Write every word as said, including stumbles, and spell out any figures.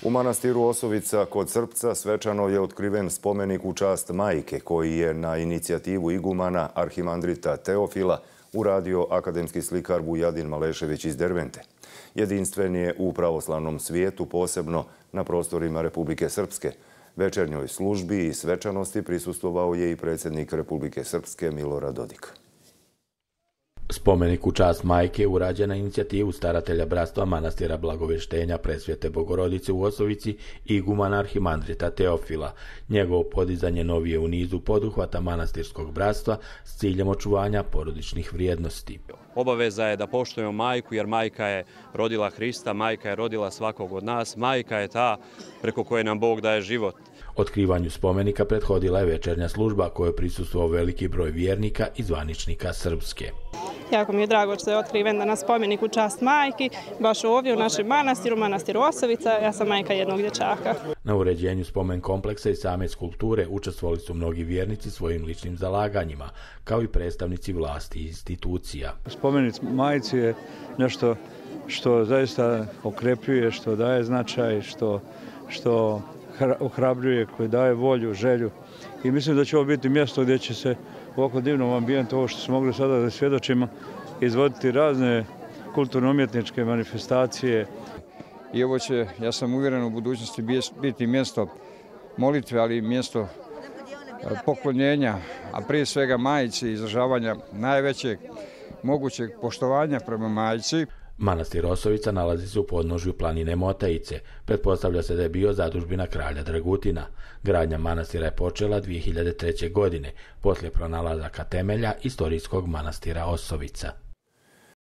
U manastiru Osovica kod Srpca svečano je otkriven spomenik u čast majke koji je na inicijativu igumana arhimandrita Teofila uradio akademski slikar Vujadin Malešević iz Dervente. Jedinstven je u pravoslavnom svijetu, posebno na prostorima Republike Srpske. Večernjoj službi i svečanosti prisustvovao je i predsjednik Republike Srpske Milorad Dodik. Spomenik u čast majke urađen na inicijativu staratelja bratstva manastira Blagovještenja Presvete Bogorodice u Osovici i igumana arhimandrita Teofila. Njegovo podizanje novije u nizu poduhvata manastirskog bratstva s ciljem očuvanja porodičnih vrijednosti. Obaveza je da poštujemo majku, jer majka je rodila Hrista, majka je rodila svakog od nas, majka je ta preko koje nam Bog daje život. Otkrivanju spomenika prethodila je večernja služba kojoj prisustvovao veliki broj vjernika i zvaničnika Srpske. Jako mi je drago što je otkriven danas spomenik u čast majki, baš ovdje u našem manastiru, manastiru Osovica. Ja sam majka jednog dječaka. Na uređenju spomen kompleksa i same skulpture učestvovali su mnogi vjernici svojim ličnim zalaganjima, kao i predstavnici vlasti i institucija. Spomenik majci je nešto što zaista okrepljuje, što daje značaj, što, što ohrabljuje, koji daje volju, želju. I mislim da će ovo biti mjesto gdje će se u ovako divnom ambijentu, ovo što smo mogli sada da svjedočimo, izvoditi razne kulturno-umjetničke manifestacije. I ovo će, ja sam uvjeren, u budućnosti biti mjesto molitve, ali i mjesto poklonjenja, a prije svega majici, izražavanja najvećeg mogućeg poštovanja prema majici. Manastir Osovica nalazi se u podnožju planine Motajice. Pretpostavlja se da je bio zadužbina kralja Dragutina. Gradnja manastira je počela dvije hiljade treće. godine, poslije pronalazaka temelja istorijskog manastira Osovica.